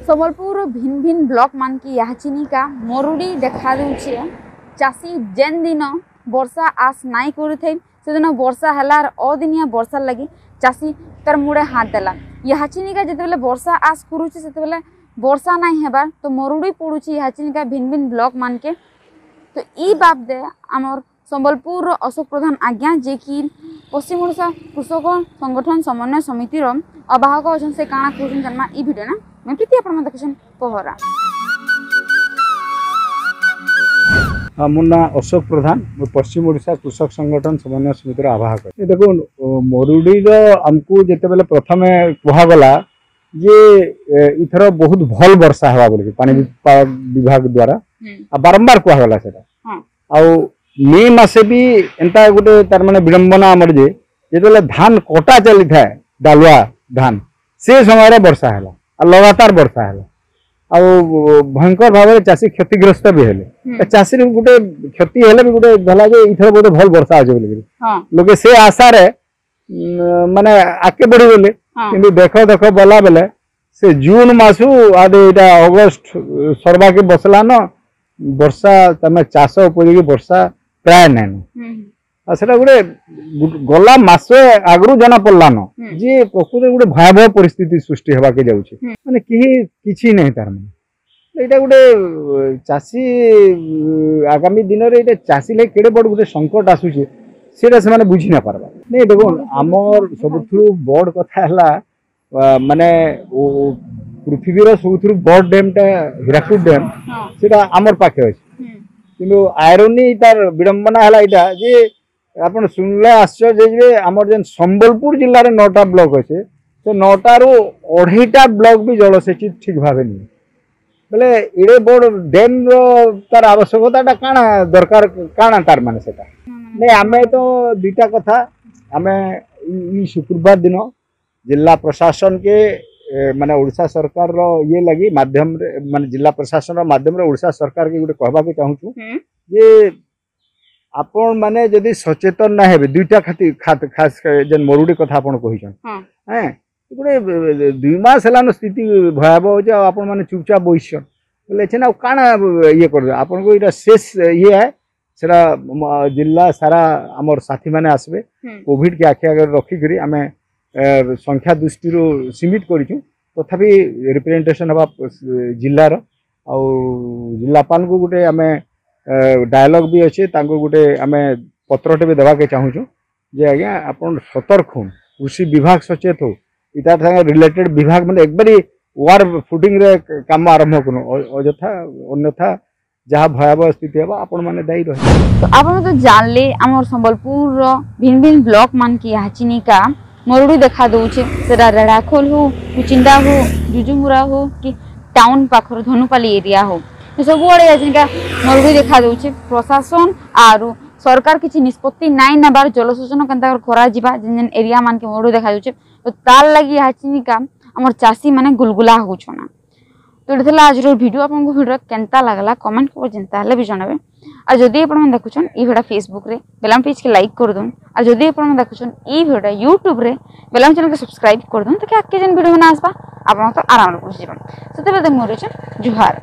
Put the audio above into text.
ସମ୍ବଲପୁର ଭିନ୍ ଭିନ୍ block ମାନକେ ଇହାଚିନିକା ମରୁଡ଼ି ଦେଖା ଦଉଛେ। ଚାଷୀ ଯେନ୍ ଦିନ ବର୍ଷା ଆସ ନାଇଁ କରୁଥାଇ ସେଦିନ ବର୍ଷା ହେଲା ଆର୍ ଅଦିନିଆ ବର୍ଷା ଲାଗି ଚାଷୀ ତାର ମୁଡ଼େ ହାତ ଦେଲା। ଇହାଚିନିକା ଯେତେବେଲେ ବର୍ଷା ଆସ କରୁଛେ ସେତେବେଲେ ବର୍ଷା ନାଇଁ ହେବାର୍ ତ ମରୁଡ଼ି ପଡ଼ୁଛି ଇହାଚିନିକା ଭିନ୍ ଭିନ୍ ବ୍ଲକ ମାନକେ। ତ ଇ ବାବଦେ ଆମର୍ ସମ୍ବଲପୁରର ଅଶୋକ ପ୍ରଧାନ ଆଜ୍ଞା ଯେ କି ପଶ୍ଚିମ ଓଡ଼ିଶା କୃଷକ ସଂଗଠନ ସମନ୍ୱୟ ସମିତିର ଆବାହକ ଅଛନ୍, ସେ କାଣା କହୁଛନ୍ ଜାନ୍ମା ଇ ଭିଡ଼ିଓ ନା। ମୁଇଁ ପ୍ରୀତି, ଆପଣମାନେ ଦେଖୁଛନ୍ ପହରା। ହଁ, ମୋ ନାଁ ଅଶୋକ ପ୍ରଧାନ। ମୁଁ ପଶ୍ଚିମ ଓଡ଼ିଶା କୃଷକ ସଂଗଠନ ସମନ୍ୱୟ ସମିତିର ଆବାହକ। ଏ ଦେଖୁନ୍, ମରୁଡ଼ିର ଆମକୁ ଯେତେବେଲେ ପ୍ରଥମେ କୁହାଗଲା ଯେ ଇଥର ବହୁତ ଭଲ ବର୍ଷା ହେବା ବୋଲିକି ପାଣିପାଗ ବିଭାଗ ଦ୍ୱାରା ଆଉ ବାରମ୍ବାର କୁହାଗଲା ସେଟା। ଆଉ ମେ ମାସେ ବି ଏନ୍ତା ଗୋଟେ ତାର ମାନେ ବିଡ଼ମ୍ବନା ଆମର ଯେ ଯେତେବେଳେ ଧାନ କଟା ଚାଲିଥାଏ, ଡାଲୁଆ ଧାନ, ସେ ସମୟରେ ବର୍ଷା ହେଲା ଆଉ ଲଗାତାର ବର୍ଷା ହେଲା ଆଉ ଭୟଙ୍କର ଭାବରେ ଚାଷୀ କ୍ଷତିଗ୍ରସ୍ତ ବି ହେଲେ। ତ ଚାଷୀର ଗୋଟେ କ୍ଷତି ହେଲେ ବି ଗୋଟେ ହେଲା ଯେ ଏଇଥର ଗୋଟେ ଭଲ ବର୍ଷା ଅଛି ବୋଲିକିରି ଲୋକେ ସେ ଆଶାରେ ମାନେ ଆଗକେ ବଢିଗଲେ। କିନ୍ତୁ ଦେଖ ଦେଖ ବଲା ବେଲେ ସେ ଜୁନ ମାସୁ ଆଦେ ଏଇଟା ଅଗଷ୍ଟ ସରବାକେ ବସଲାନ, ବର୍ଷା ତମେ ଚାଷ ଉପଯୋଗୀ ବର୍ଷା ପ୍ରାୟ ନାଇଁନ। ଆଉ ସେଟା ଗୋଟେ ଗଲା ମାସେ ଆଗରୁ ଜଣା ପଡିଲାନ ଯେ ପ୍ରକୃତରେ ଗୋଟେ ଭୟାବହ ପରିସ୍ଥିତି ସୃଷ୍ଟି ହେବାକେ ଯାଉଛି। ମାନେ କେହି କିଛି ନାହିଁ, ତାର ମାନେ ଏଇଟା ଗୋଟେ ଚାଷୀ ଆଗାମୀ ଦିନରେ ଏଇଟା ଚାଷୀ ଲାଗି କେଡ଼େ ବଡ଼ ଗୋଟେ ସଙ୍କଟ ଆସୁଛି, ସେଇଟା ସେମାନେ ବୁଝି ନା ପାରବା। ନାଇଁ, ଦେଖୁନ୍, ଆମର ସବୁଥିରୁ ବଡ଼ କଥା ହେଲା ମାନେ ପୃଥିବୀର ସବୁଥିରୁ ବଡ଼ ଡ୍ୟାମଟା ହୀରାକୁଦ ଡ୍ୟାମ, ସେଟା ଆମର ପାଖେ ଅଛି। କିନ୍ତୁ ଆଇରୋନି, ତାର ବିଡ଼ମ୍ବନା ହେଲା ଏଇଟା ଯେ ଆପଣ ଶୁଣିଲେ ଆଶ୍ଚର୍ଯ୍ୟ ହେଇଯିବେ, ଆମର ଯେନ୍ ସମ୍ବଲପୁର ଜିଲ୍ଲାରେ 9ଟା ବ୍ଲକ ଅଛି, ସେ 9ଟାରୁ 2.5ଟା ବ୍ଲକ ବି ଜଳସେଚିତ ଠିକ ଭାବେ ନୁହେଁ। ବୋଲେ ଏଡ଼େ ବଡ଼ ଡ୍ୟାମର ତାର ଆବଶ୍ୟକତାଟା କାଣା ଦରକାର, କାଣା ତାର ମାନେ ସେଟା ନାଇଁ। ଆମେ ତ ଦୁଇଟା କଥା, ଆମେ ଇ ଶୁକ୍ରବାର ଦିନ ଜିଲ୍ଲା ପ୍ରଶାସନକେ ମାନେ ଓଡ଼ିଶା ସରକାରର ଇଏ ଲାଗି ମାଧ୍ୟମରେ, ମାନେ ଜିଲ୍ଲା ପ୍ରଶାସନର ମାଧ୍ୟମରେ ଓଡ଼ିଶା ସରକାରକେ ଗୋଟେ କହିବାକୁ ଚାହୁଁଛୁ ଯେ ଆପଣ ମାନେ ଯଦି ସଚେତନ ନା ହେବେ ଦୁଇଟା ଖାତି ଖାସ ଯେନ୍ ମରୁଡ଼ି କଥା ଆପଣ କହିଛନ୍, ହେଁ ଗୋଟେ 2 ମାସ ହେଲାନ ସ୍ଥିତି ଭୟାବହ ହଉଛି ଆଉ ଆପଣ ମାନେ ଚୁପଚାପ ବସିଛନ୍ ବୋଲେ ଏଛେନ୍ ଆଉ କାଣା ଇଏ କରିବେ? ଆପଣଙ୍କୁ ଏଇଟା ଶେଷ ଇଏ ହେ। ସେଟା ଜିଲ୍ଲା ସାରା ଆମର ସାଥୀମାନେ ଆସିବେ। କୋଭିଡ କେ ଆଖି ଆଗରେ ରଖିକରି ଆମେ ସଂଖ୍ୟା ଦୃଷ୍ଟିରୁ ସୀମିତ କରିଛୁ, ତଥାପି ରିପ୍ରେଜେଣ୍ଟେସନ ହେବା ଜିଲ୍ଲାର। ଆଉ ଜିଲ୍ଲାପାଳଙ୍କୁ ଗୋଟେ ଆମେ ଡାୟଲଗ ବି ଅଛି, ତାଙ୍କୁ ଗୋଟେ ଆମେ ପତ୍ରଟେ ବି ଦେବାକେ ଚାହୁଁଛୁ ଯେ ଆଜ୍ଞା ଆପଣ ସତର୍କ ହଉନ୍, କୃଷି ବିଭାଗ ସଚେତ ହଉ, ଇତାର ସାଙ୍ଗେ ରିଲେଟେଡ୍ ବିଭାଗ ମାନେ ଏକବାରି ୱାର ଫୁଟିଂରେ କାମ ଆରମ୍ଭ କରୁନ୍। ଅଯଥା ଅନ୍ୟଥା ଯାହା ଭୟାବହ ସ୍ଥିତି ହେବ, ଆପଣମାନେ ଦାୟୀ ରହିବେ। ତ ଆପଣ ତ ଜାଣିଲେ, ଆମର ସମ୍ବଲପୁରର ଭିନ୍ ଭିନ୍ ବ୍ଲକ ମାନକେ ଇହାଚିନିକା ମରୁଡ଼ି ଦେଖା ଦଉଛେ। ସେଟା ରେଢ଼ାଖୋଲ ହଉ, କୁଚିଣ୍ଡା ହଉ, ଯୁଯୁମୁରା ହଉ କି ଟାଉନ ପାଖର ଧନୁପାଲି ଏରିଆ ହଉ, ସବୁଆଡ଼େ ଇହାଚିନିକା ମରୁଡ଼ି ଦେଖା ଦଉଛେ। ପ୍ରଶାସନ ଆରୁ ସରକାର କିଛି ନିଷ୍ପତ୍ତି ନାଇଁ ନେବାର ଜଳସେଚନ କେନ୍ତା କରି କରାଯିବା, ଯେନ୍ ଯେନ୍ ଏରିଆ ମାନକେ ମରୁଡ଼ି ଦେଖା ଯାଉଛେ, ତ ତାର୍ ଲାଗି ଇହାଚିନିକା ଆମର ଚାଷୀ ମାନେ ଗୁଲଗୁଲା ହଉଛନ୍। ତ ଏଇଟା ଥିଲା ଆଜିର ଭିଡ଼ିଓ। ଆପଣଙ୍କୁ ଭିଡ଼ିଓ କେନ୍ତା ଲାଗଲା କମେଣ୍ଟ କରି ଯେନ୍ତା ହେଲେ ବି ଜଣାବେ। ଆଉ ଯଦି ଆପଣମାନେ ଦେଖୁଛନ୍ ଇ ଭିଡ଼ିଓ ଫେସବୁକ୍ରେ, ବେଲେ ଆମ ପେଜ୍କେ ଲାଇକ୍ କରିଦଉନ୍। ଆଉ ଯଦି ଆପଣମାନେ ଦେଖୁଛନ୍ ଇ ଭିଡ଼ିଓ ୟୁଟ୍ୟୁବ୍ରେ, ବେଲେ ଆମ ଚ୍ୟାନେଲ୍କେ ସବସ୍କ୍ରାଇବ୍ କରିଦଉନ୍, ତାକି ଆଗ୍କେ ଯେନ୍ ଭିଡ଼ିଓ ମାନେ ଆସବା ଆପଣ ତ ଆରାମରେ ପହଞ୍ଚିଯିବ। ସେତେବେଳେ ମୁଁ ରହୁଛେ, ଜୁହାର।